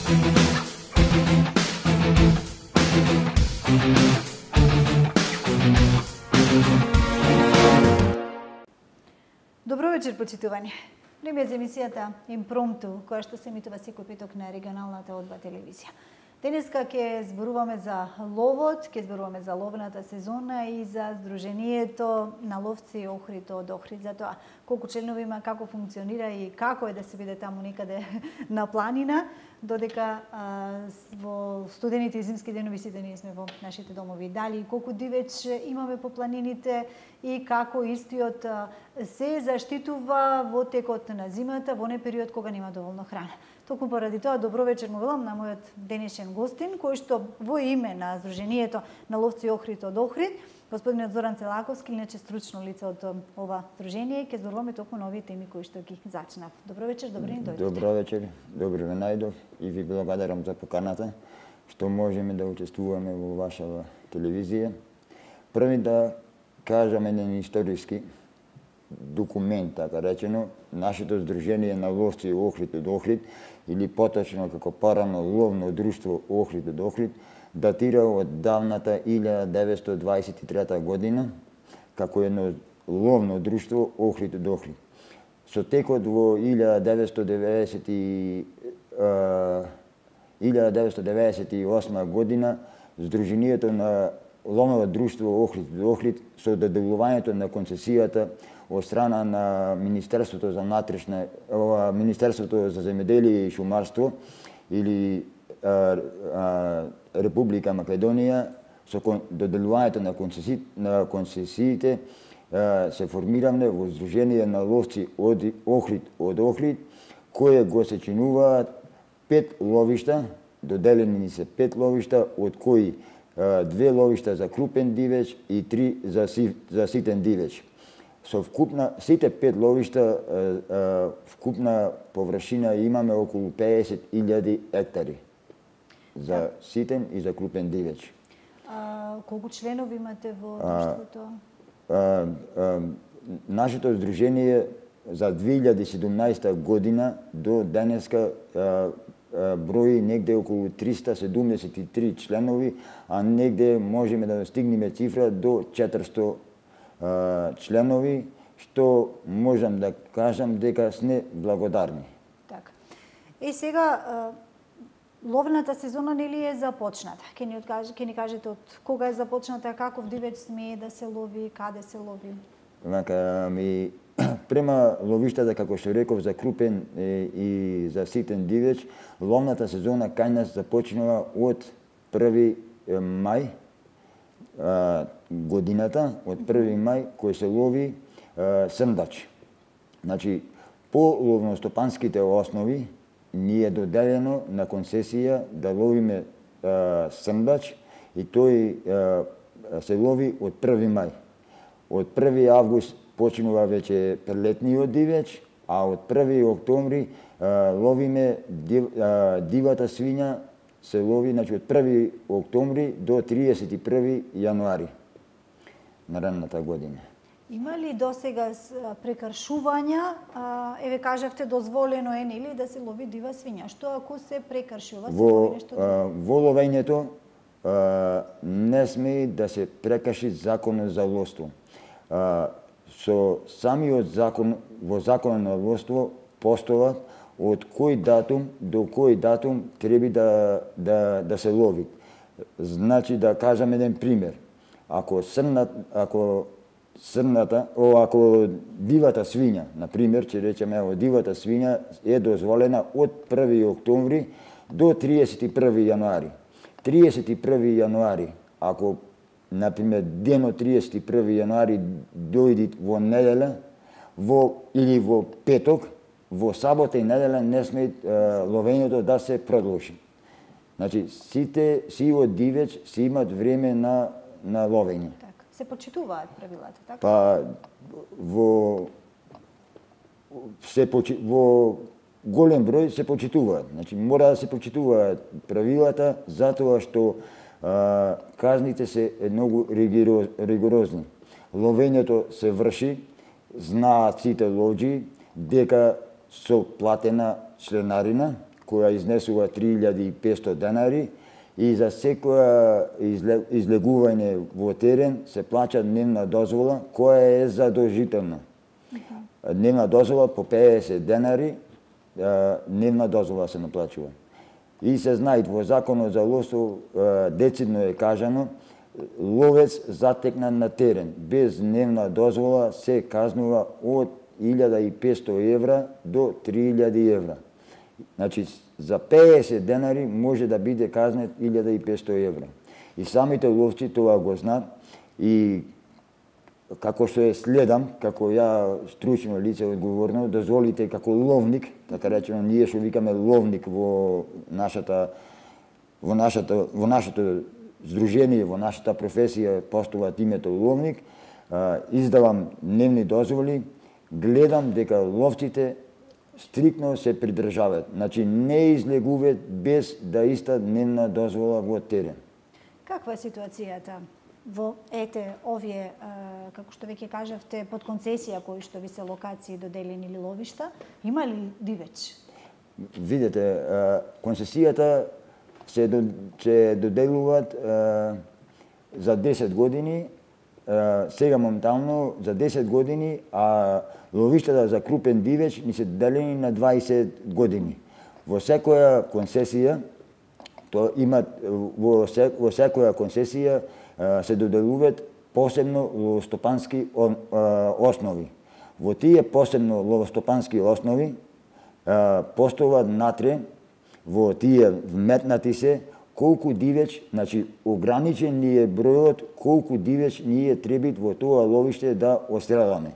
Добро вечер, почитувани. Време за емисијата Импромту, која што се емитува секој петок на регионалната Одба телевизија. Денеска ќе зборуваме за ловот, ќе зборуваме за ловната сезона и за Сдруженијето на ловци Охрид од Охрид, за тоа колку членови има, како функционира и како е да се биде таму некаде на планина, додека во студените и зимски денови сите ние сме во нашите домови. Дали колку дивеч имаме по планините и како истиот се заштитува во текот на зимата, во не период кога нема доволно храна. Токму поради тоа, добро вечер му велам на мојот денешен гостин, кој што во име на Сдруженијето на ловци Охрид од Охрид, господинот Зоран Целаковски, иначе стручно лице од ова сдружение, ќе зборуваме токму на овие теми кои што ги зачнав. Добро вечер, добри ни дојдовте. Добро вечер, добро ве најдов и ви благодарам за поканата што можеме да учествуваме во вашава телевизија. Први да кажам еден историски документ, така речено, нашето Сдружение на ловци Охрид од Охрид, или поточно како порано ловно друштво Охрид од Охрид, датира од давната 1923 година, како едно ловно друштво Охрид од Охрид. Со текот во 1998 година, Сдруженијето на ловно друштво Охрид од Охрид, со доделувањето на концесијата од страна на Министерството за внатрешна, Министерството за земјоделие и шумарство или Република Македонија, со доделувањето на концесиите се формираме во Сдружение на ловци од Охрид, кое го сечинуваат 5 ловишта, доделени ни се 5 ловишта, од кои 2 ловишта за крупен дивеч и 3 за ситен дивеч. Со вкупна, сите 5 ловишта, вкупна површина имаме околу 50.000 ектари за ситен и за крупен дивеч. Колку членови имате во друштвото? Нашето сдружение за 2017 година до денеска брои негде околу 373 членови, а негде можеме да стигнеме цифра до 400 членови, што можам да кажам дека сме благодарни. Така. И сега ловната сезона нели е започната? Ќе ни кажете од кога е започната, каков дивеч смее да се лови, каде се лови? Према ловиштата, како што реков, за крупен и за ситен дивеч, ловната сезона кај нас започнува од 1 мај годината, од 1 мај, кој се лови срндач. Значи, по ловностопанските основи ни е доделено на концесија да ловиме срндач и тој се лови од 1 мај. Од 1 август почнува веќе прелетниот дивеч, а од 1 октомври ловиме дивата свиња, се лови, значи, од 1 октомври до 31 јануари на ранната година. Има ли досега прекршувања? Еве кажавте дозволено е нели да се лови дива свиња. Што ако се прекршува? Во ловењето не сме да се прекрши законот за ловство. Со самиот закон, во законот на ловство постојат од кој датум до кој датум треба да се лови. Значи, да кажам еден пример. Ако дивата свиња, например, ќе речеме, дивата свиња е дозволена од 1 октомври до 31 јануари. 31 јануари, ако, например, денот 31 јануари дојди во неделя, или во петок, во сабота и неделя не сме ловењето да се продолжи. Значи, сивот дивеч си имат време на ловење. Така. Се почитуваат правилата, така? Па, во голем број се почитуваат. Значи, мора да се почитуваат правилата, затоа што казните се многу ригорозни. Ловењето се врши, знаат сите ловџи дека со платена членарина, која изнесува 3500 денари и за секоја излегување во терен се плаќа дневна дозвола која е задолжителна. Дневна дозвола по 50 денари, дневна дозвола се наплачува. И се знае во законот за ловство децидно е кажано, ловец затекнат на терен без дневна дозвола се казнува од 1500 евра до 3000 евра. Значи, за 50 денари може да биде казнет 1500 евра. И самите ловци тоа го знаат и како што е следам, како ја стручно лице одговорно, дозволите како ловник, така речено, ние што викаме ловник во нашето здружение, во нашата професија постуваат името ловник, издавам дневни дозволи, гледам дека ловците стрикно се придржаваат. Значи не излегуваат без да иста дневна дозвола во терен. Каква е ситуацијата во овие, како што веќе кажавте, под концесија кои што ви се локации доделени или ловишта, има ли дивеч? Видете, концесијата се доделуваат за 10 години, сега моментално за 10 години, а ловиштата за крупен дивеч ни се доделени на 20 години. Во секоја концесија во секоја концесија се доделуваат посебно ловостопански основи. Во тие посебно ловостопански основи постојат натре во тие вметнати се колку дивеч, значи ограничен ни е бројот колку дивеч ние треба во тоа ловиште да остреламе.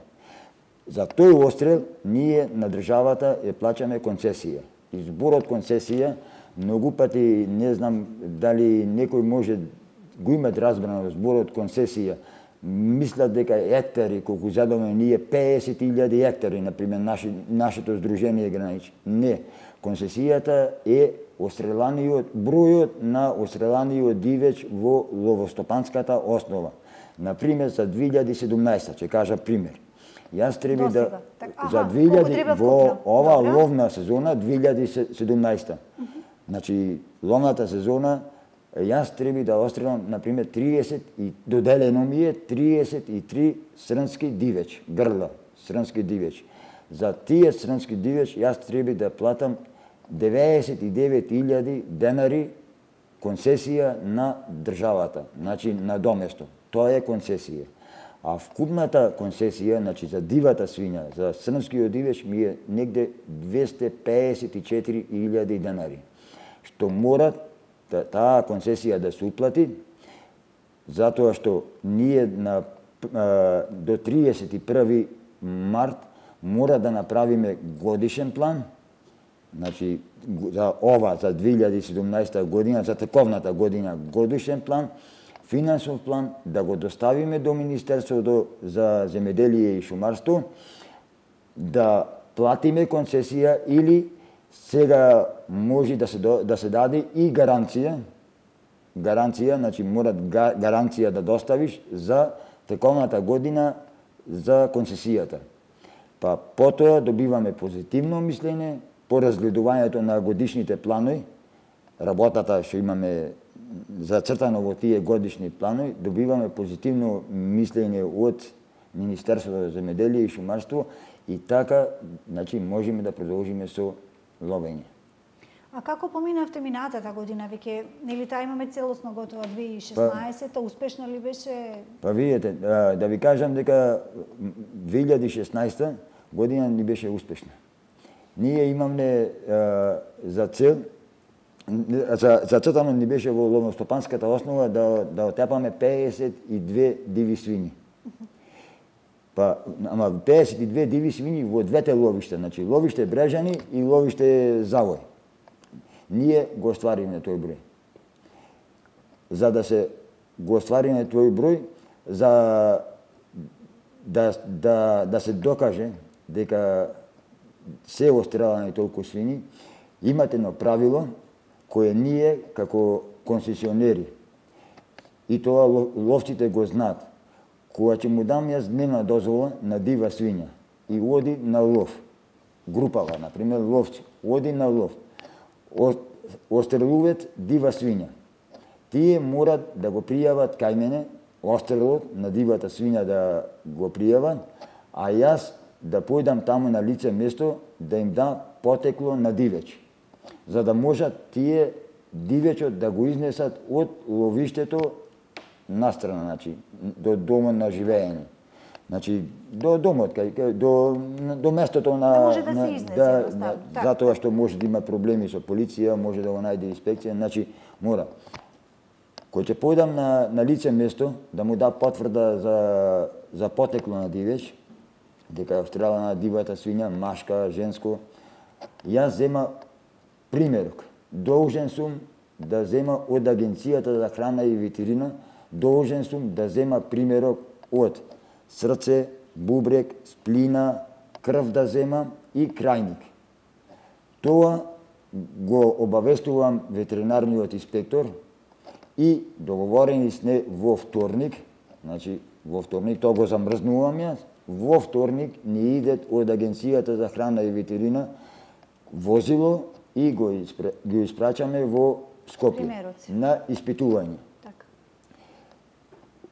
За тој острел ние на државата ја плаќаме концесија. И зборот концесија многу пати не знам дали некој може го имат разбрано зборот концесија. Мислат дека ектари, колку задаме ние 50.000 ектари, например, нашето здружение гранич. Не. Концесијата е бројот на остреланиот дивеч во ловостопанската основа. Например, за 2017, ќе кажа пример. Јас треба да за 2000 во ова ловна сезона 2017. Значи ловната сезона јас треба да острелам например 30 и доделено ми е 33 срнски дивеч, грла, срнски дивеч. За тие срнски дивеч јас треба да платам 99.000 денари концесија на државата, значи на доместо. Тоа е концесија. А вкупната концесија, значи за дивата свиња, за срнскиот дивеч ми е негде 254.000 денари. Што мора таа концесија да се уплати, затоа што ние до 31 март мора да направиме годишен план, значи за 2017 година, за тековната година годишен план, финансов план, да го доставиме до Министерството за земеделие и шумарство, да платиме концесија или сега може да се даде и гаранција, значи мора гаранција да доставиш за тековната година за концесијата. Па потоа добиваме позитивно мислење по разгледувањето на годишните планови, работата што имаме зацртано во тие годишни планови, добиваме позитивно мислење од Министерството за земеделие и шумарство и така, значи, можеме да продолжиме со ловење. А како поминавте минатата година? Веќе, нели таа имаме целосно готова 2016-та, успешно ли беше? Па видите, да ви кажам дека 2016 година ни беше успешна. Ние имаме за цел, зацртано ни беше во ловностопанската основа да отепаме 52 диви свињи. Па, ама 52 диви свињи во двете ловишта, значи ловиште Брежани и ловиште Завој. Ние го оствариме тој број. За да се го оствариме тој број, за да се докаже дека се острелани толку свињи, имате едно правило кое ние како концесионери и тоа ловците го знаат. Кога ќе му дам јас дневна дозвола на дива свиња и оди на лов, групава, например, ловци, оди на лов, острелуваат дива свиња. Тие морат да го пријават кај мене, острелот на дивата свиња да го пријават, а јас да појдам таму на лице место да им дам потекло на дивеч, за да можат тие дивечот да го изнесат од ловиштето настрана, значи до домот на живеење. Значи до домот, до местото на може да се изнесе, затоа што може да има проблеми со полиција, може да го најде инспекција, значи мора. Кој ќе појдам на лице место да му да потврда за потекло на дивеч, дека е отстрелана дивата свиња, машка, женско, јас зема примерок. Должен сум да зема од Агенцијата за храна и ветерина, должен сум да зема примерок од срце, бубрек, сплина, крв да зема и крајник. Тоа го обавестувам ветеринарниот инспектор и договорени сме во вторник, значи во вторник тоа го замрзнувам јас, во вторник ни идет од Агенцијата за храна и ветерина возило и го испрачаме во Скопје на испитување.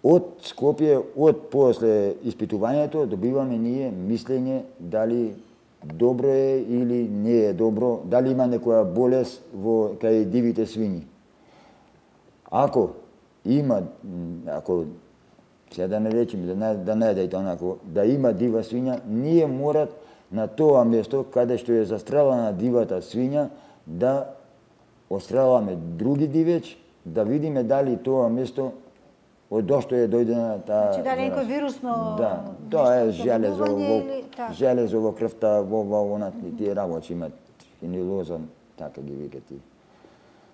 Од Скопје, од после испитувањето, добиваме ние мислење дали добро е или не е добро, дали има некоја болест во кај дивите свињи. Ако има, сега да не речем, да не дадете онако, да има дива свиња, ние морат на тоа место каде што е застрелана дивата свиња да отстреламе други дивеч, да видиме дали тоа место од дошто е дојдена таа... Значи дали некој вирусно... Да, тоа е железо во крвта, во тие работи имат фенилоза, така ги викат тие.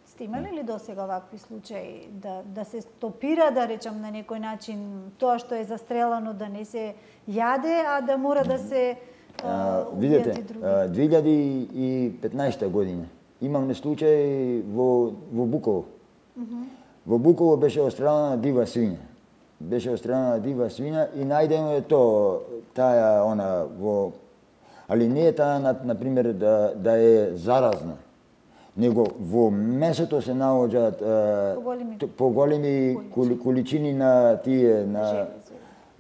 Сте имали ли досега вакви случаи да се стопира, да речам на некој начин, тоа што е застрелано да не се јаде, а да мора да се видете, 2015 година имаме случај во Буково. Во Буково беше отстрелана дива свиња. Беше отстрелана дива свиња и најдено е таа во... Али не е таа, например, да е заразна, него во месото се наоѓаат поголеми количини на тие,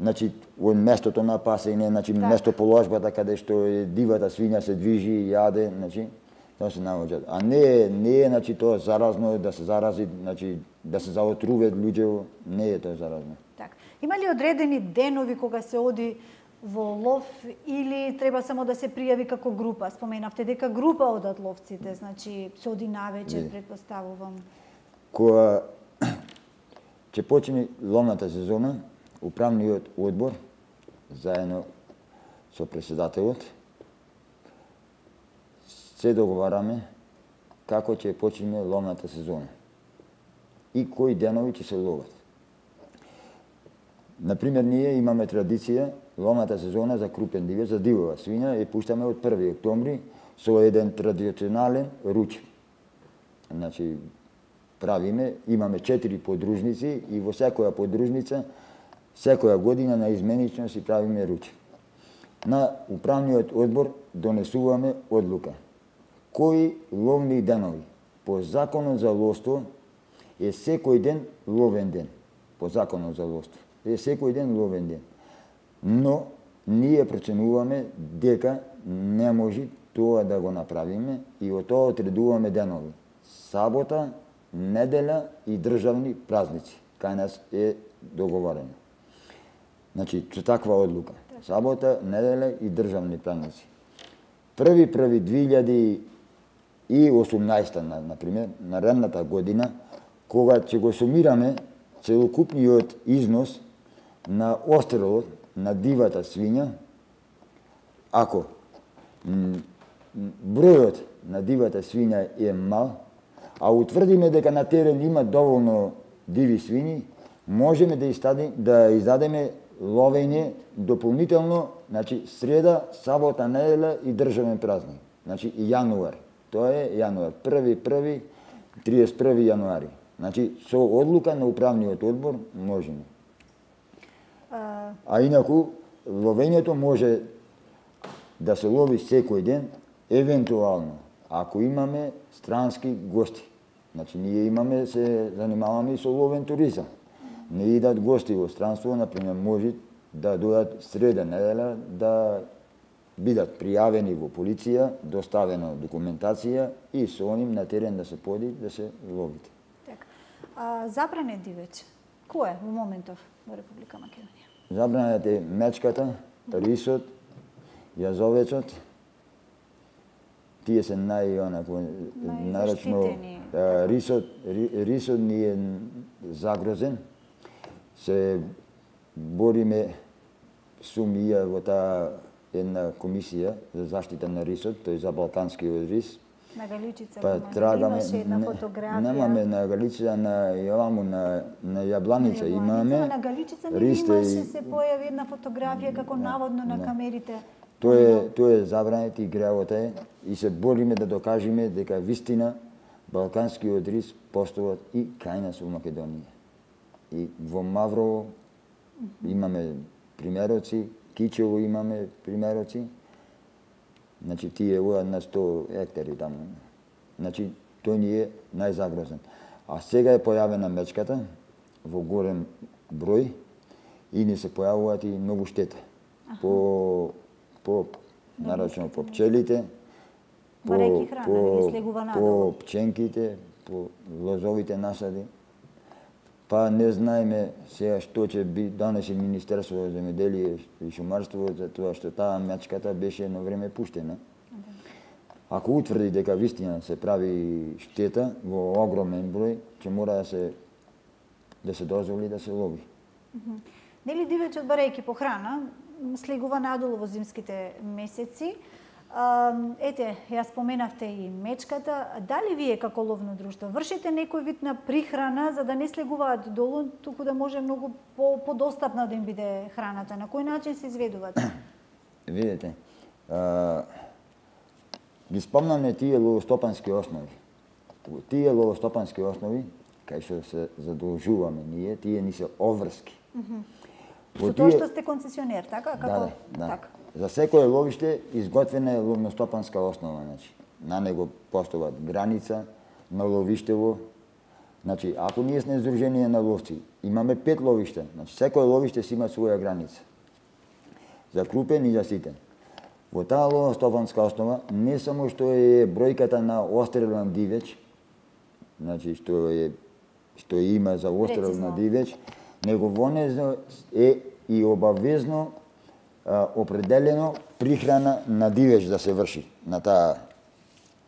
значи, од местото на пасење, значи, место положбата каде што дивата свиња се движи и јаде, значи, тоа се наоѓаат. А не е, значи, тоа заразно, да се зарази, значи, да се заотруват луѓе, не е тоа заразно. Така. Има ли одредени денови кога се оди во лов или треба само да се пријави како група? Споменавте дека група одат ловците, значи се оди навечер, претпоставувам. Кога ќе почне ловната сезона, управниот одбор заедно со претседателот се договараме како ќе почне ловната сезона и кои денови ќе се ловат. Например, ние имаме традиција ловната сезона за крупен дивеч, за дивова свиња, и пуштаме од 1 октомври со еден традиционален руч. Значи, имаме 4 подружници и во секоја подружница, секоја година наизменично си правиме руч. На управниот одбор донесуваме одлука. Кои ловни денови? По законот за ловство е секој ден ловен ден. По законот за ловство е секој ден ловен ден. Но ние проценуваме дека не може тоа да го направиме и од тоа отредуваме денови. Сабота, неделја и државни празници. Кај нас е договорено. Значи, со таква одлука. Сабота, неделја и државни празници. 1.1.2018, например, наредната година, кога ќе го сумираме целокупниот износ на острелот на дивата свиња, ако бројот на дивата свиња е мал, а утврдиме дека на терен има доволно диви свињи, можеме да издадеме ловење дополнително, значи среда, сабота, неделја и државен празник. Значи и јануар. Тоа е јануар, 1.1. 31. јануари. Значи со одлука на управниот одбор можеме. А инаку ловењето може да се лови секој ден, евентуално ако имаме странски гости. Значи, ние имаме, се занимаваме и со ловен туризам. Не идат гости во странство, например, може да дојдат среда недела, да бидат пријавени во полиција, доставена документација и со ним на терен да се поди, да се ловите. Така. Забранет дивеч, кој е во моментов во Република Македонија? Забранет е мечката, рисот, јазовецот. Тие се нарочно рисот ни е загрозен. Се бориме со МИА во таа една комисија за заштита на рисот, тој за балканскиот рис. На Галичица имаше една фотографија. Немаме на Галичица, на Јабланица имаме. На Галичица имаше се појави една фотографија како наводно на камерите. Тоа е забранет и греот е и се бориме да докажеме дека вистина балканскиот рис постојат и кај нас во Македонија. И во Маврово имаме примероци, Кичево имаме примероци. Значи, тие одат на 100 хектари таму. Значи, тој ни е најзагрозен. А сега е појавена мечката во голем број и ни се појавуваат и многу штета. Нарочно по пчелите, по пченките, по лозовите насади. Па не знаеме сега што ќе донесе Министерството за земјоделие и шумарство за тоа што таа мечката беше едно време пуштена. Ако утврди дека вистина се прави штета во огромен број, ќе мора да се дозволи да се лови. Нели дивечот, барајќи по храна, слегува надолу во зимските месеци. Ете, ја споменавте и мечката. Дали вие како ловно друштво вршите некој вид на прихрана за да не слегуваат долу, туку да може многу подостапна да им биде храната? На кој начин се изведуваат? Видете, ги спомнаме тие ловостопански основи. Тие ловостопански основи, кај што се задолжуваме ние, тие ни се обврски. Со тоа што сте концесионер, така? Да. Така. За секое ловиште изготвена е ловностопанска основа, значи. На него постојат граница на ловиштево. Значи, ако ние сме здружение на ловци, имаме 5 ловишта, значи секое ловиште си има своја граница. За крупен и за ситен. Во таа ловностопанска основа не само што е бројката на острелен дивеч, значи што има за острел на дивеч, него во нејно е и обавезно определено прихрана на дивеч да се врши на таа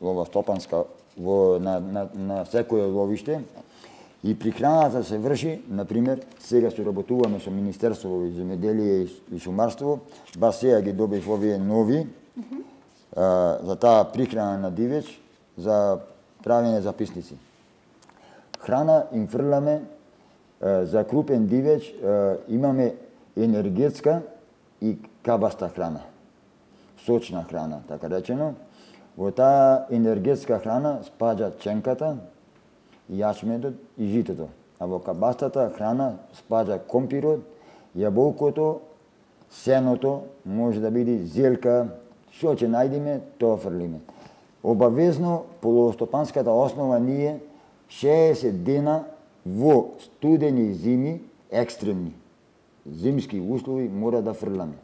ловостопанска на секое ловиште и прихраната се врши, например, сега соработуваме со Министерството за земјоделие и шумарство, ба сега ги добив овие нови за таа прихрана на дивеч за правење записници. Храна им фрламе за крупен дивеч, имаме енергетска и кабаста храна, сочна храна, така речено. Во таа енергетска храна спаѓа ченката, јачменот и житото. А во кабастата храна спаѓа компирот, јаболкото, сеното, може да биде зелка, што ќе најдеме, тоа фрлиме. Обавезно по ловостопанската основа ние 60 дена во студени зими, екстремни зимски услови мора да фрламе,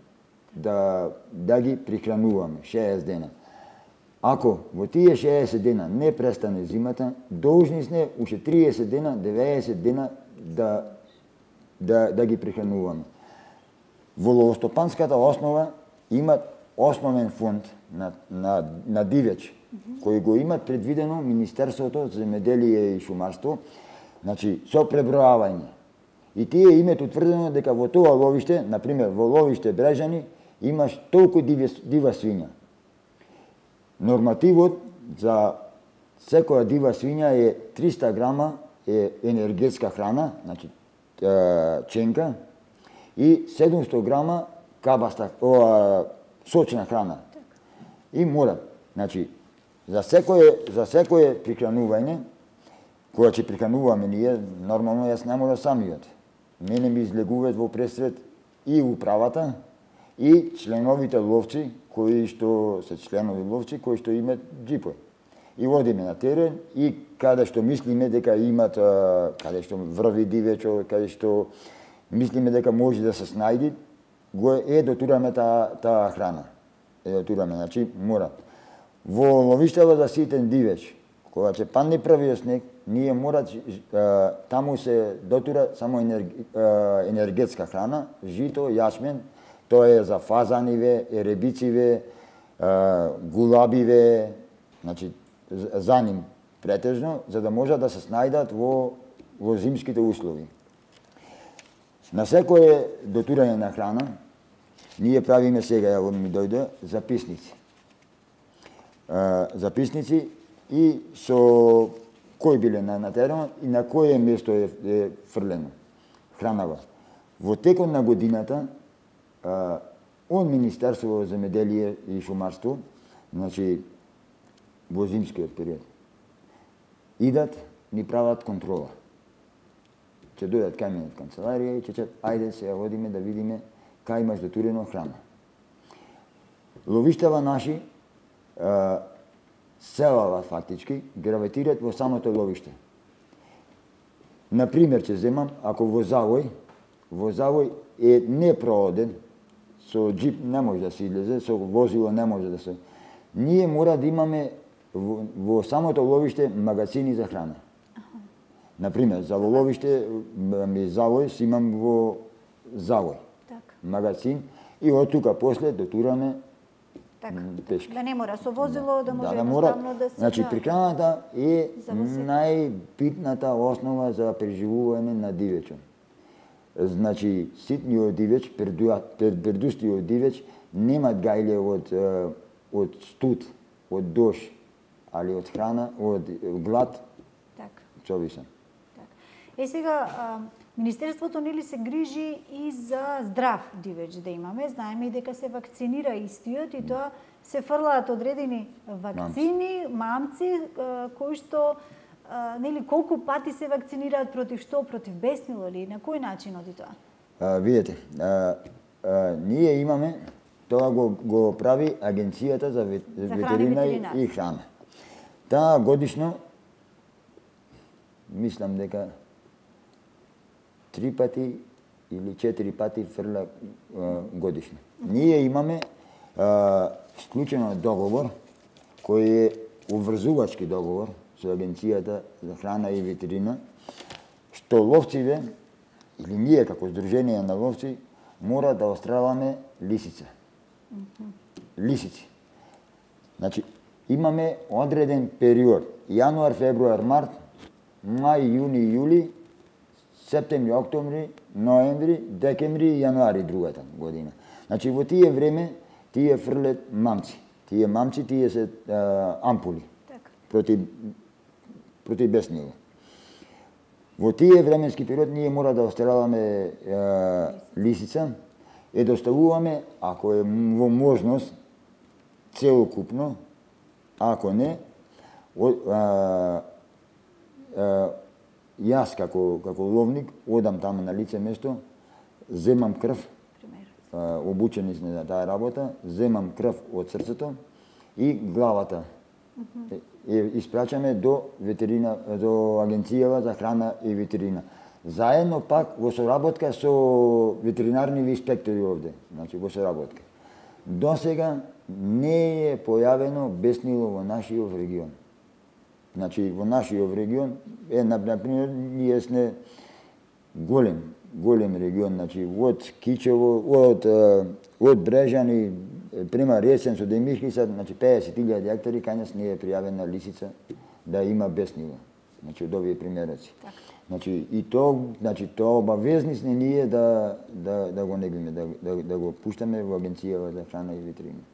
да ги прихрануваме 60 дена. Ако во тие 60 дена не престане зимата, должни сме уште 30 дена, 90 дена да ги прихрануваме. Во ловостопанската основа има основен фонд на дивеч, кој го имат предвидено Министерството за земјоделие и шумарство, значи со пребројавање. И тие имат утврдено дека во тоа ловиште, например во ловиште Брежани, имаш толку дива свиња. Нормативот за секоја дива свиња е 300 грама е енергетска храна, значи ченка, и 700 грама кабаста, сочна храна. И мора, значи, за секое прихранување, кога ќе прихрануваме ние, нормално јас не мора самиот. Мене ми излегуваат во пресред и управата, и членовите ловци, кои што се членови ловци, кои што имат джипови. и одиме на терен и каде што мислиме дека имат, каде што врви дивечо, каде што мислиме дека може да се снајди, го дотураме таа храна. Дотураме, значи мора. Во ловиштава за ситен дивеч, кога ќе падне првиот снег, ние мора таму се дотура само енергетска храна, жито, јачмен, тоа е за фазаниве, еребициве, гулабиве, значи за ним претежно, за да можат да се снајдат во зимските услови. На секое дотурање на храна, ние правиме сега, ја ми дојде, записници. Записници и со кој биле на терен и на кое место е фрлено хранава. Во текот на годината, од Министерство за земеделие и шумарство, значи во зимскиот период, идат, ни прават контрола. Ќе дојдат кај мене од канцеларија и ќе ајде се одиме да видиме кај имаш дотурено храна. Ловиштава наши, селава фактички, гравитираат во самото ловиште. Например, ќе земам, ако во Завој е непрооден, со джип не може да се излезе, со возило не може да се. Ние мора да имаме во самото ловиште магазини за храна. Например, за ловиште Завој си имам во Завој магазин и од тука после дотураме пешки. Да не мора со возило, да може едноставно да се... Значи, прехраната е најбитната основа за преживување на дивечот. Значи, ситниот дивеч, пердустиот дивеч, немат гајле од студ, од дош, али од храна, од глад, човисен. Сега, Министерството нели се грижи и за здрав дивеч да имаме. Знаеме и дека се вакцинира истиот и тоа се фрлаат одредени вакцини, мамци, кои што нели колку пати се вакцинираат против што, против беснило или на кој начин оди тоа? Видете, ние имаме, тоа го прави Агенцијата за ветерина и храна. Таа годишно, мислам дека 3 пати или 4 пати фрла годишно. Ние имаме склучено договор, кој е уврзувачки договор со Агенцијата за храна и ветерина, што ловциве, или ние како Сдружение на ловци, мора да остреламе лисица. Лисици. Значи, имаме одреден период. Јануар, февруар, март, мај, јуни, јули, септември, октомври, ноември, декември и јануари другата година. Значи, во тие време, тие фрлет мамци. Тие мамци, тие се ампули против беснило. Во тие временски период ние мора да острелаваме лисица и доставуваме, ако е во можност, целокупно, ако не, јас како ловник одам таму на лице место, земам крв, обучени сме за таа работа, земам крв од срцето и главата. Испрачаме до Агенцијава за храна и ветерина. Заедно пак во соработка со ветеринарни инспектори овде, значи во соработка. До сега не е појавено беснило во нашиот регион. Значи, во нашиот регион е, например, ние сме голем регион, значи, од Кичево, од Брежани, према Ресен со Демишки, значи 50.000 хектари, кај нас не е пријавена лисица да има беснило. Значи, од овие примероци. Значи, и тоа обавезни сме ние да го неглиме, да го пуштаме во Агенцијава за храна и ветерина.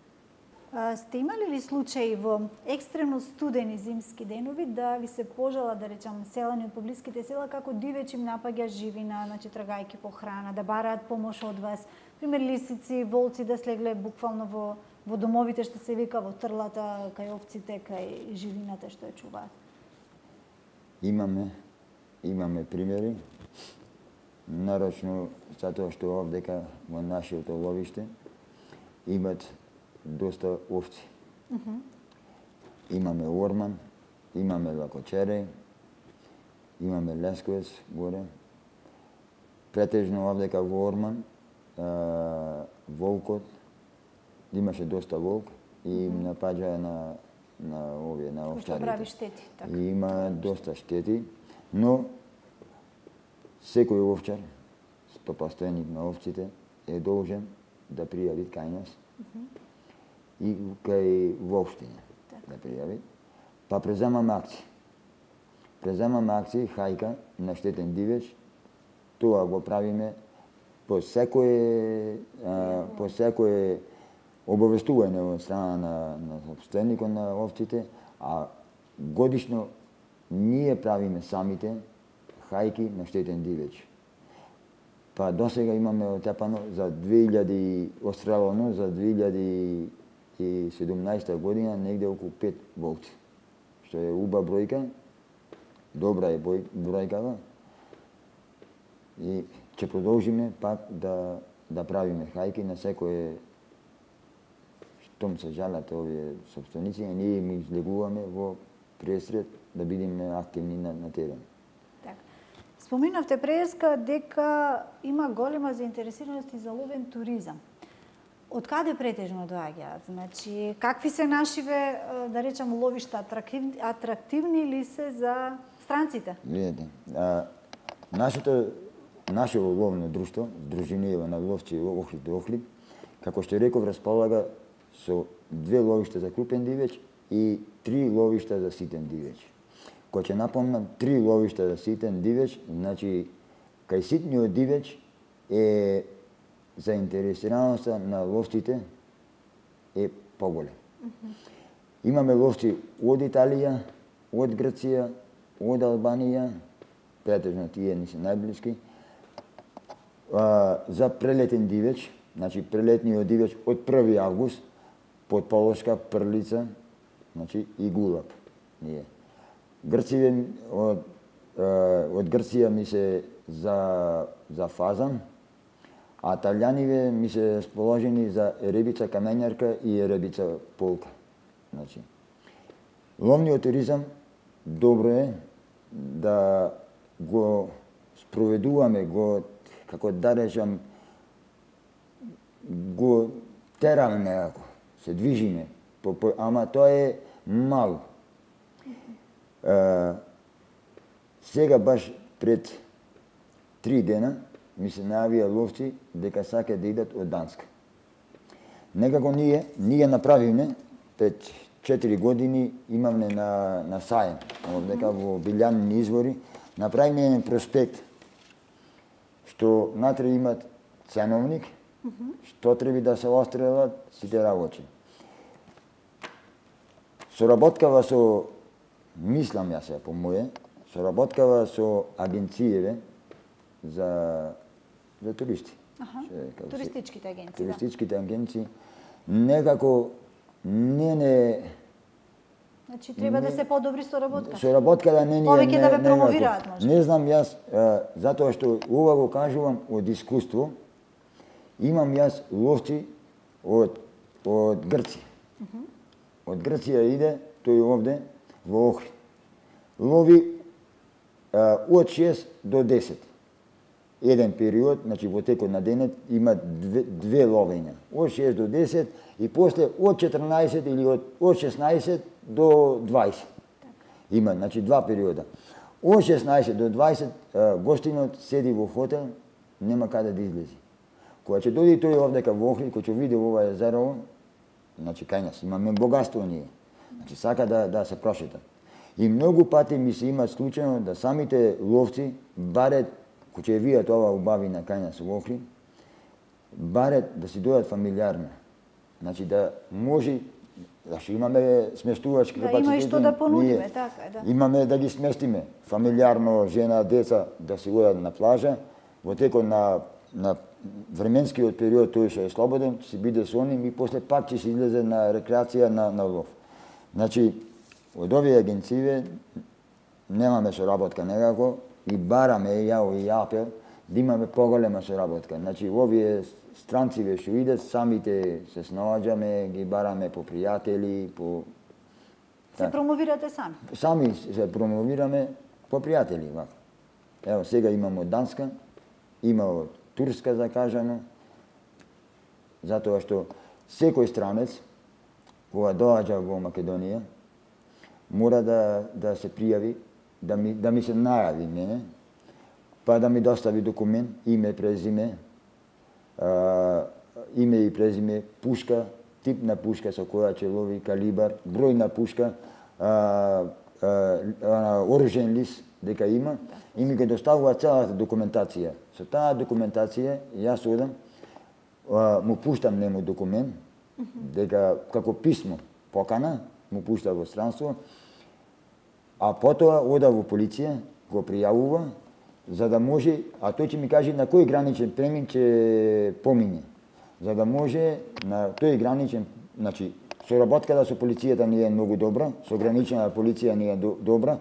Сте имали ли случаи во екстремно студени зимски денови да ви се пожала, да речам, селани од поблиските села, како дивеч им напаѓа живина, значи трагајќи по храна, да бараат помош од вас, пример лисици, волци да слегле буквално во домовите што се вика, во трлата, кај овците, кај живината што ја чуваат? Имаме примери, нарочно затоа што овдека во нашето ловиште имат доста овци. Имаме орман, имаме лакочери, имаме Лесковец горе, претежно овдека во Орман, волкот, имаше доста волк и напаѓа на овие, на овчарите. Прави штети, така. И има доста штети, но секој овчар, постојаник на овците, е должен да пријави кај нас и кај воопштина да пријави. Па преземаме акции. Преземаме акции, хајка на штетен дивеч, тоа го правиме по секое обавестување од страна на собственикот на овците, а годишно ние правиме самите хајки на штетен дивеч. Па досега имаме отепано за 2000 острелано за 2017 година негде околу 5 волци, што е убава бројка, добра е бројкава и ќе продолжиме пак да правиме хајки на секое штом се жалат овие собственици, а ние ми излегуваме во пресред да бидеме активни на терен. Споминавте преска дека има голема заинтересираност и за ловен туризам. Од каде претежно доаѓаат? Значи, какви се нашиве, да речам, ловишта, атрактивни ли се за странците? Гледате, наше ловно друштво, Дружиниево на ловци Охлиб до Охлиб, како што реков, располага со 2 ловишта за крупен дивеч и 3 ловишта за ситен дивеч. Кој ќе напомнам, 3 ловишта за ситен дивеч, значи, кај ситниот дивеч е заинтересираноста на ловците е поголем. Имаме ловци од Италија, од Грција, од Албанија, претежно тие ни се најблиски, за прелетен дивеч, значи прелетниот дивеч од 1 август, подполошка, прлица, значи и гулаб. Ние. Грциве од Грција ми се за фазан, а италијаниве ми се расположени за еребица камењарка и еребица полка. Значи, ловниот туризам добро е да го спроведуваме, како да речам, го тераме некако, се движиме, ама тоа е мало. Сега баш пред 3 дена ми се најавија ловци дека сакаат да идат од Данска. Некако ние направивме пред 4 години имавме на сајем, дека во Билјанини извори, направивме еден проспект што натре имат ценовник, што треба да се острелат сите работи. Соработкава со, мислам јас се по моје, соработкава со агенцијеве за туристи. Туристичките агенции. Туристичките агенции некако не Значи треба да се подобри соработката. Соработката не повеќе да ве промовираат може. Не знам јас, затоа што ова го кажувам од искуство. Имам јас ловци од Грција. Од Грција иде тој овде во Охрид. Лови од 6 до 10. Еден период, значи во текот на денот има две ловења. Од 6 до 10 и после од 14 или од 16 до 20. Има, значи два периода. Од 16 до 20 гостинот седи во хотел, нема каде да излези. Кога ќе дојде тој овдека во Охрид, кој ќе види ова езеро, значи кај нас имаме богатство ние. Значи сака да се прошета. И многу пати ми се има случајно да самите ловци барет, кој ќе видат ова убавина кај нас во Охрид, барет да си дојдат фамилиарно. Значи да може, значи имаме сместувачки капацитети. Да, има и што да понудиме, така е, да. Имаме да ги сместиме фамилиарно, жена, деца да се одат на плажа, во текот на временскиот период тој што е слободен, ќе биде со нив и после пак ќе се излезе на рекреација на лов. Значи, од овие агенције немаме соработка некако и бараме јао и апел да имаме поголема соработка. Значи, овие странциве што идат, самите се снаоѓаме, ги бараме по пријатели, по Се промовирате сами? Сами се промовираме по пријатели. Ево, сега имам од Данска, има од Турска закажано, затоа што секој странец, кога доаѓа во Македонија, мора да се пријави, да ми се најави мене, па да ми достави документ, име, презиме, пушка, тип на пушка со која ќе лови, калибар, број на пушка, оружен лист дека има, и ми ги доставува целата документација. Со таа документација јас одам, му пуштам нему документ, дека како писмо, покана, му пушта во странство, а потоа ода во полиција, го пријавува, за да може, а тој ќе ми каже на кој граничен премин ќе помине, за да може на тој граничен, значи, соработката со полицијата не е многу добра, со гранична полиција не е добра.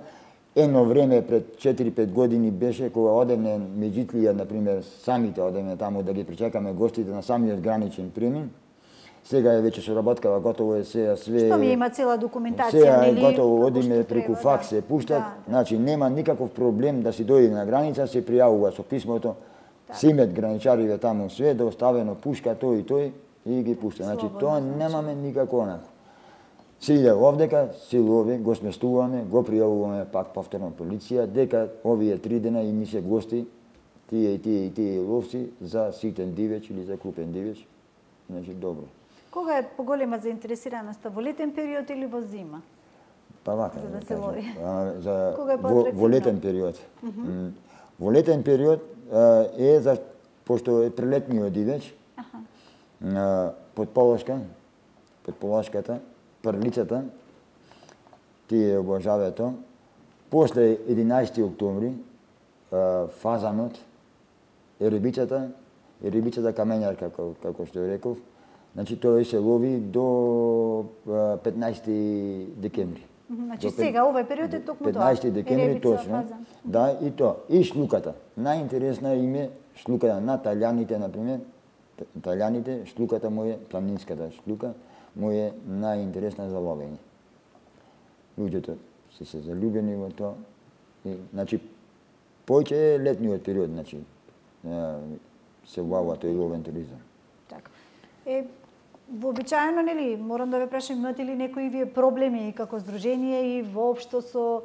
Едно време пред 4-5 години беше кога одевме Меѓитлија, например, самите одевме таму да ги причекаме гостите на самиот граничен премин. Сега е веќе соработкава, готово е све. Што ми има цела документација, сега е готово, одиме преку факс се пуштат, значи нема никаков проблем да си дојде на граница, се пријавува со писмото, си имат граничариве таму све, да оставено пушка тој и тој и ги пушта. Значи тоа немаме никако онако. Се иде овдека, се лови, го сместуваме, го пријавуваме пак повторно полиција, дека овие 3 дена и ни се гости, тие и тие ловци за ситен дивеч или за крупен дивеч. Значи добро. Кога е поголема заинтересираноста, во летен период или во зима? Па вака, за да се лови. Во летен период. Во летен период е за пошто е прелетниот дивеч. Под полошката, прлицата, тие обожавето. После 11 октомври фазанот, рибичата камењарка, како што реков. Значи тој се лови до 15 декември. Значи сега овој период е токму тоа. 15 декември точно. Да, и тоа. И шлуката. Најинтересна им е шлуката на талјаните, например. Талјаните, шлуката му е, планинската шлука, му е најинтересна за ловење. Луѓето се залюбени во тоа. Значи, поќе е летниот период, значи, се ловува тој ловен туризам. Така. Вообичаено, нели, морам да ве прашам, имате ли некои вие проблеми како здружение и воопшто со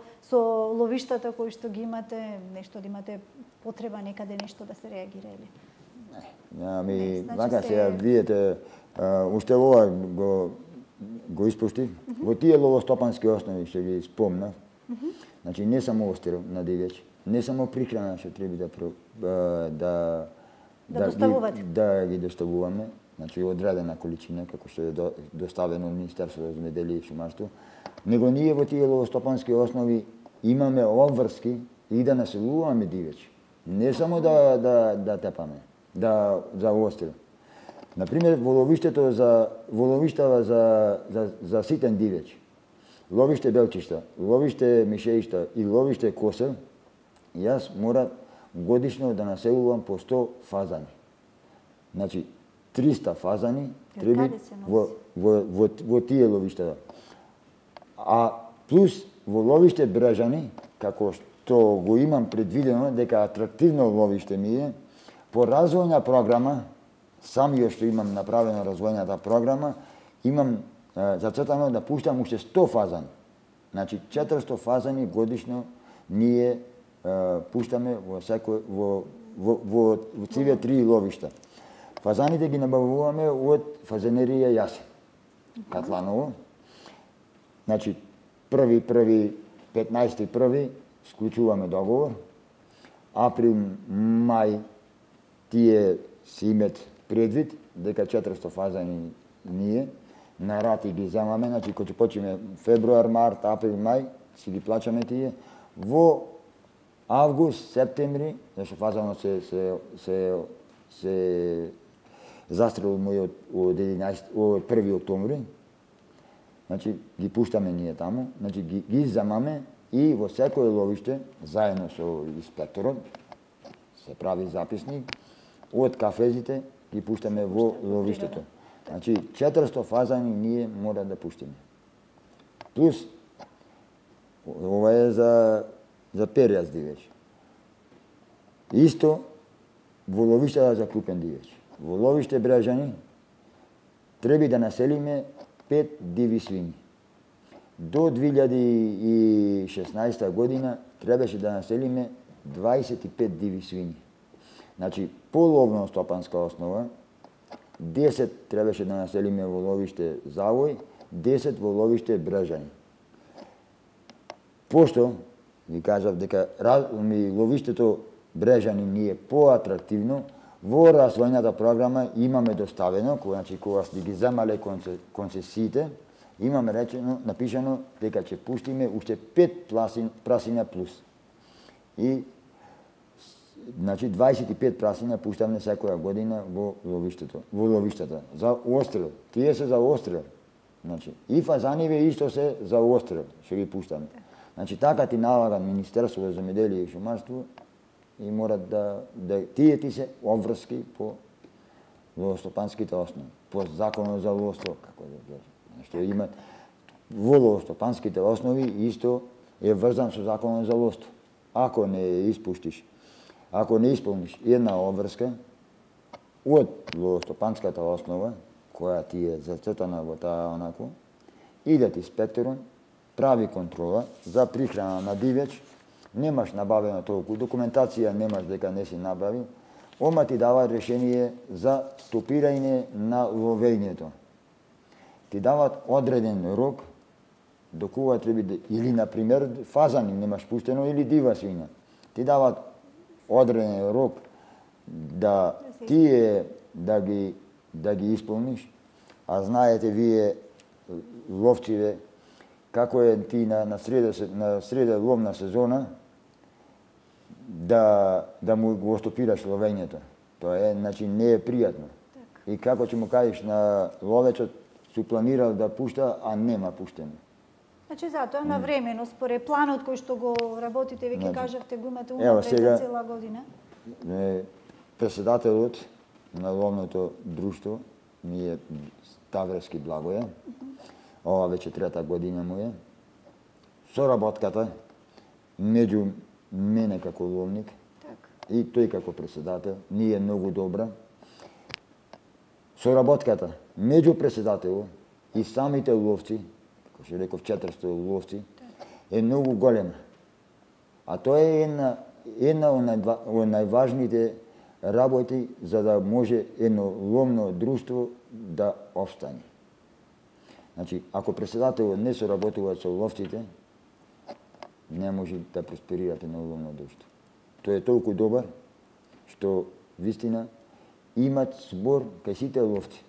ловиштата кои што ги имате, нешто да имате потреба некаде нешто да се реагира или? Ами, вака сега видите, уште ова го испуштив. Во тие ловостопански основи што ги спомнав, значи не само острел на дивеч, не само прихрана што треба да ги доставуваме, значи одредена количина, како што е доставено од Министерството за земјоделие и шумарство, него ние во тие ловостопански основи имаме обврски и да населуваме дивеч. Не само да тепаме, за острел. Например, во ловиштава за ситен дивеч, ловиште белчишта, ловиште мишеишта и ловиште косел, јас мора годишно да населувам по 100 фазани. Значи, 300 фазани треба во тие ловиштава. А плюс во ловиште Брежани, како што го имам предвидено дека атрактивно ловиште ми е, по развојна програма, самиот што имам направена развојната програма, имам зацртано да пуштам уште 100 фазани. Значи 400 фазани годишно ние пуштаме во циве 3 ловишта. Фазаните ги набавуваме од фазенерија Јасен, Катланово. Значи 15.1. склучуваме договор. Април, мај тие си имат предвид дека 400 фазани ние на рати ги земаме, значи кога ќе почиме февруар, март, април, мај, си ги плачаме тие. Во август, септември, зашто фазанот се застрелил мој од 1 октомври, значи ги пуштаме ние таму, значи ги земаме и во секое ловиште, заедно со инспекторот, се прави записник, од кафезите ги пуштаме во ловиштето. Значи 400 фазани ние мора да пуштиме. Плюс Ова е за перјас дивеч. Исто во ловиштата за крупен дивеч. Во ловиште Брежани треба да населиме 5 диви свињи. До 2016 година требаше да населиме 25 диви свињи. Значи, по ловно-стопанска основа, 10 требаше да населиме во ловиште Завој, 10 во ловиште Брежани. Пошто, ви кажав дека ловиштето Брежани ни е поатрактивно, во развојната програма имаме доставено, кога сте ги земале концесиите, имаме напишано дека ќе пуштиме уште 5 прасиња плюс. И значи 25 прасиња пуштаме секоја година во ловиштата. За острел. Тие се за острел. Значи, и фазаниве исто се за острел, што ги пуштаме. Значи, така ти налага Министерство за земјоделие и шумарство и морат да тие ти се обврски по ловостопанските основи, по законот за ловство, како да кажам. Што има во ловостопанските основи исто е врзан со законот за ловство. Ако не испуштиш, ако не исполниш една обврска од ловостопанската основа, која ти е зацртана во таа онако, идат инспекторот, прави контрола за прихрана на дивеч, немаш набавено толку документација, немаш дека не си набавил, ома ти дава решение за стопирање на ловењето. Ти дават одреден рок до кога треба да, или например фазани немаш пуштено или дива свиња. Ти дават одреден рок да тие да ги исполниш, а знаете вие ловциве како е ти на среда ловна сезона да му го стопираш ловењето. Тоа е, значи, не е пријатно. И како ќе му кажеш на ловецот, су планирал да пушта, а нема пуштено. Значи, затоа навремено, според планот кој што го работите, веќе кажавте, го имате унапред за цела година? Председателот на ловното друштво ми е Ставрески Благоје. Ова веќе трета година му е. Соработката меѓу мене како ловник и тој како председател ни е многу добра. Соработката меѓу председателот и самите ловци, како што реков 400 ловци, е многу голема. А тоа е една од најважните работи за да може едно ловно друштво да опстане. Значи, ако председателот не соработува со ловците, не може да просперирате на ловно друштво. Тој е толку добар, што вистина имат збор кај сите ловци.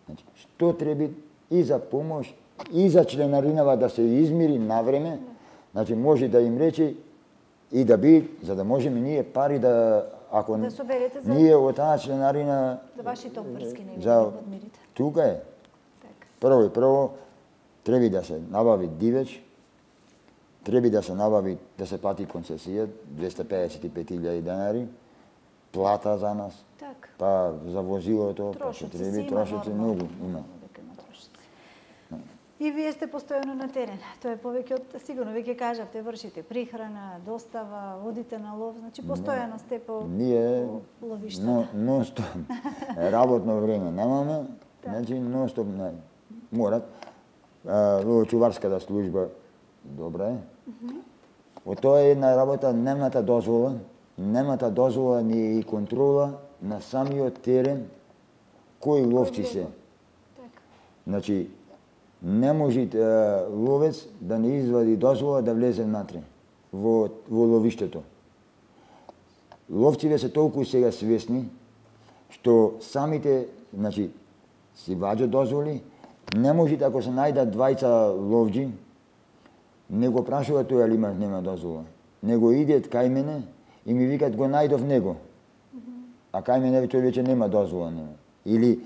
Значи, што треба и за помош, и за членаринава да се измири навреме, значи може да им рече и да би, за да можеме ние пари да, ако да соберете за ние од таа членарина за вашите обврски не за подмирите. Тука е. Прво треба да се набави дивеч, треба да се набави, да се плати концесија 255.000 денари, плата за нас, па за возилото, па се треба трошици многу има. И вие сте постојано на терен. Тоа е повеќе од, сигурно веќе кажавте, вршите прихрана, достава, водите на лов, значи постојано сте по ловиштата. Нон-стоп. Работно време немаме, значи нон-стоп морат. Ловочуварската служба добра е. Од тоа е една работа немната дозвола ни и контрола на самиот терен кои ловци се. Значи, не може ловец да не извади дозвола да влезе внатре во ловиштето. Ловците се толку сега свесни што самите, значи, си ваѓа дозволи, не може ако се најдат двајца ловџи, не го прашува тој али нема дозвола. Него идет кај мене и ми викат го најдов него. А кај мене тој веќе нема дозвола. Или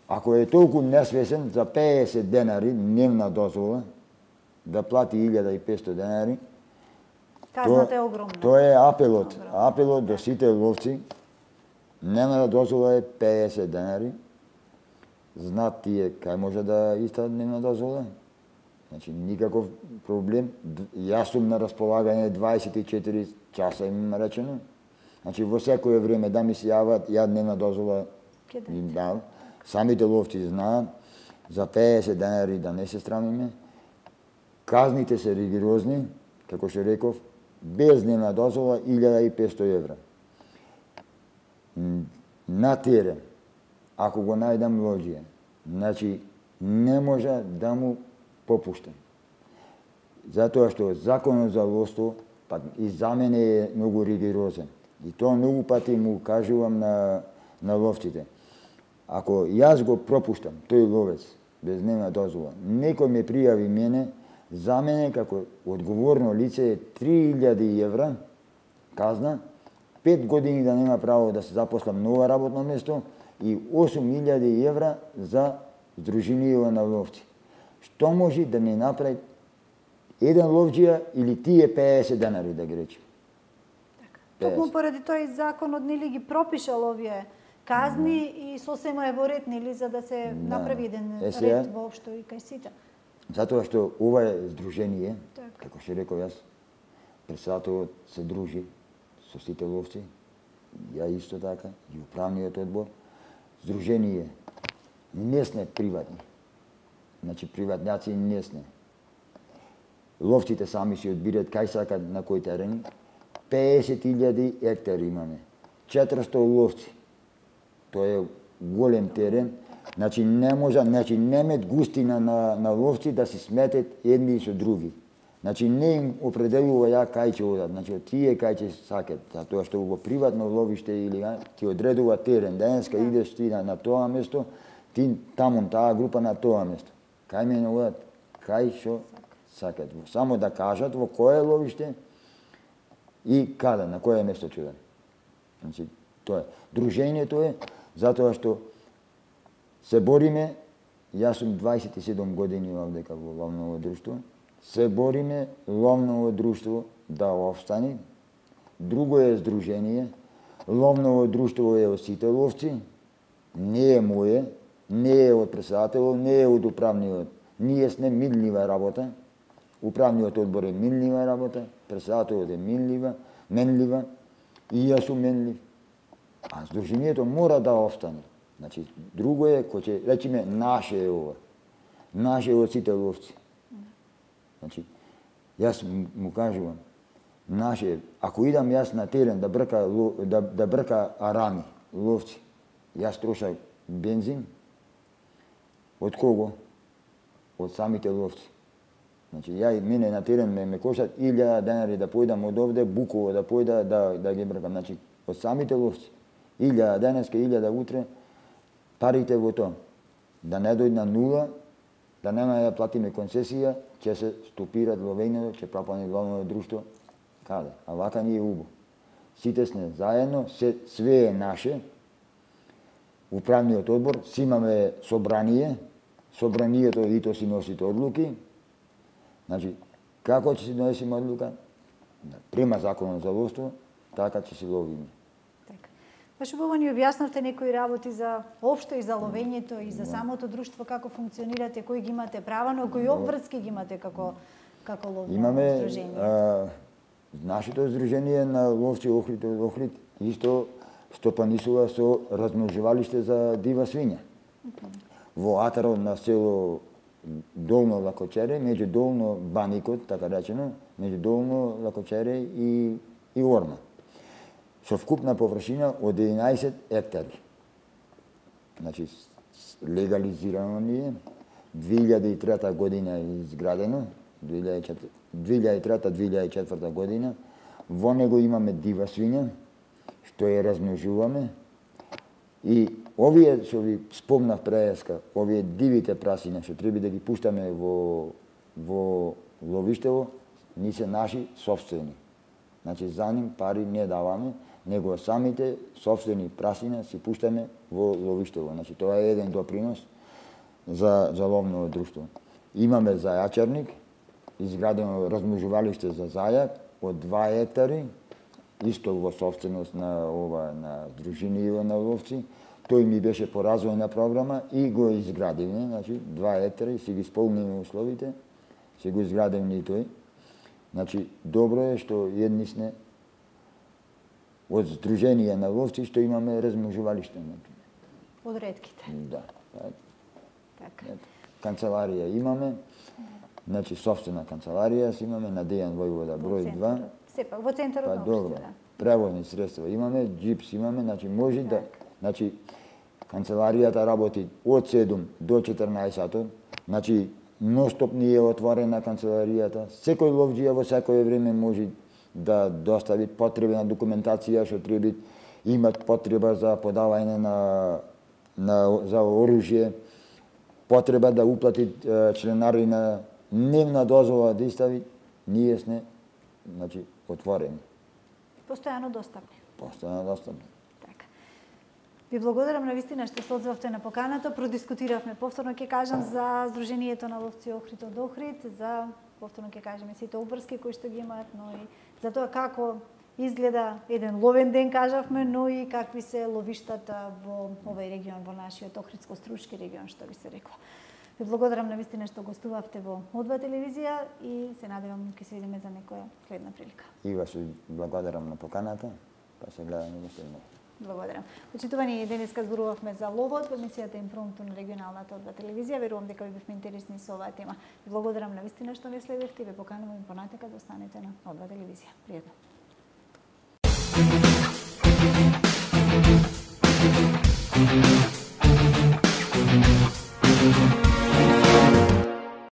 ако е толку несвесен, за 50 денари дневна дозвола, да плати 1500 денари, казната е огромна. Тоа е апелот до сите ловци. Дневна дозвола е 50 денари. Знаат тие кај може да иста дневна дозвола? Значи никаков проблем. Јас сум на располагање 24 часа им речено. Значи во секое време да ми се јават, ја дневна дозвола им дал. Самите ловци знаат за 50 денари да не се срамиме. Казните се ригорозни, како што реков, без дневна дозвола 1500 евра. На терен, ако го најдам лоđија, значи не може да му попуштам. Затоа што законот за ловство па и за мене е многу ригорозен. И тоа многу пати му кажувам на ловците. Ако јас го пропуштам, тој ловец, без дневна дозвола, некој ме пријави мене, за мене како одговорно лице е 3000 евра казна, 5 години да нема право да се запослам ново работно место и 8000 евра за Сдруженијава на ловци. Што може да не направи еден ловџија или тие 50 денари, да ги речем? Токму поради тој законот нели ги пропишал овие казни и сосема е во ред, нели, за да се направи еден ред воопшто и кај сите. Затоа што ова е здружение, како што реков јас, председателот се дружи со сите ловци, ја исто така, и управниот одбор. Здружение не сме приватни. Значи приватњаци не сме. Ловците сами си одбират кај сакат на кој терен. 50.000 хектари имаме. 400 ловци. Тоа е голем терен. Значи не може, немет густина на ловци да се сметат едни со други. Значи не им определува ја кај ќе одат, значи тие кај ќе сакат, затоа што во приватно ловиште или ти одредува терен, денеска идеш ти на тоа место, ти таму таа група на тоа место. Кај мене одат, кај што сакат. Само да кажат во кое ловиште и каде, на кое место ќе одат. Значи тоа е. Дружењето е затоа што се бориме, јас сум 27 години овдека во ловното друштво, се бориме ловното друштво да опстане. Друго е здружение. Ловното друштво е од сите ловци, не е моје, не е од председателот, не е од управниот. Ние сме минлива работа. Управниот одбор е минлива работа, председателот е менлива и јас сум менлив. А здружението мора да опстане. Значи, друго е, кој ќе речеме, наше е ова. Наше е од сите ловци. Значи, јас му кажувам, наше е, ако идам јас на терен да брка арами, ловци, јас трошам бензин, од кого? Од самите ловци. Значи, мене на терен ме кошат 1000 денари да појдам од овде, Буково да појда да ги бркам. Значи, од самите ловци. 1000 денеска, 1000 утре, парите во тоа. Да не дојде на нула, да нема да платиме концесија, ќе се стопират ловењето, ќе пропадне ловното друштво. Каде? А вака ни е убо. Сите сме заедно, све е наше. Управниот одбор, си имаме собрание, собранието и то си носите одлуки. Значи, како ќе си донесеме одлука? Према законот за ловство, така ќе си ловиме. Баш убаво ни објаснавте некои работи за општо и за ловењето и за самото друштво, како функционирате, кои ги имате права, но кои обврски ги имате како ловно здружение? Нашето здружение на ловци Охрид исто стопанисува со размножувалиште за дива свиња. Во атарот на село Долно Лакочере, меѓу Долно Баникот, така речено, меѓу Долно Лакочере и Орма. Со вкупна површина од 11 хектари. Значи, легализирано ни е. 2003 година е изградено, 2003-2004 година. Во него имаме дива свиња, што ја размножуваме. И овие, што ви спомнав преска, овие дивите прасиња, што треба да ги пуштаме во ловиштево, ни се наши собствени. Значи, за ним пари не даваме, него самите собствени прасиња си пуштаме во ловиштево. Значи, тоа е еден допринос за ловно друштво. Имаме зајачарник, изградено размножувалиште за зајак од 2 хектари, исто во собственост на Сдруженијава на ловци. Тој ми беше по развојна програма и го изградивме, значи 2 хектари, си ги исполниме условите се го изграден и тој. Значи, добро е што едни сме од Сдружение на ловци што имаме размножувалиште. Од ретките. Да. Така. Канцеларија имаме, значи собствена канцеларија си имаме на Дејан Војвода број 2. Сепак во центарот на добро. општината. Превозни средства имаме, джипс имаме, значи може да, значи канцеларијата работи од 7 до 14 сатот, значи ностоп ни е отворена канцеларијата. Секој ловџија во секое време може да достави потребна документација што треба имат потреба за подавање за оружје, потреба да уплати членарина, дневна дозвола да истави, ние сме значи отворени. Постојано достапни. Постојано достапни. Така. Ви благодарам на вистина што се одзвавте на поканата. Продискутиравме, повторно ќе кажам, за Сдруженијето на ловци Охрид од Охрид, за повторно ќе кажеме сите обврски кои што ги имаат, но и за тоа како изгледа еден ловен ден, кажавме, но и какви се ловиштата во овој регион, во нашиот Охридско-Струмски регион, што ви се рекла. Ви благодарам на вистина што гостувавте во О2 телевизија и се надевам ќе се видиме за некоја следна прилика. И вас благодарам на поканата, па се гледаме во следно. Благодарам. Почитувани, денеска зборувавме за ловот во емисијата Импромту на регионалната О2 телевизија. Верувам дека ви бевме интересни со оваа тема. Ви благодарам на вистина што не следевте и ве поканувам понатака да останете на О2 телевизија. Пријатно.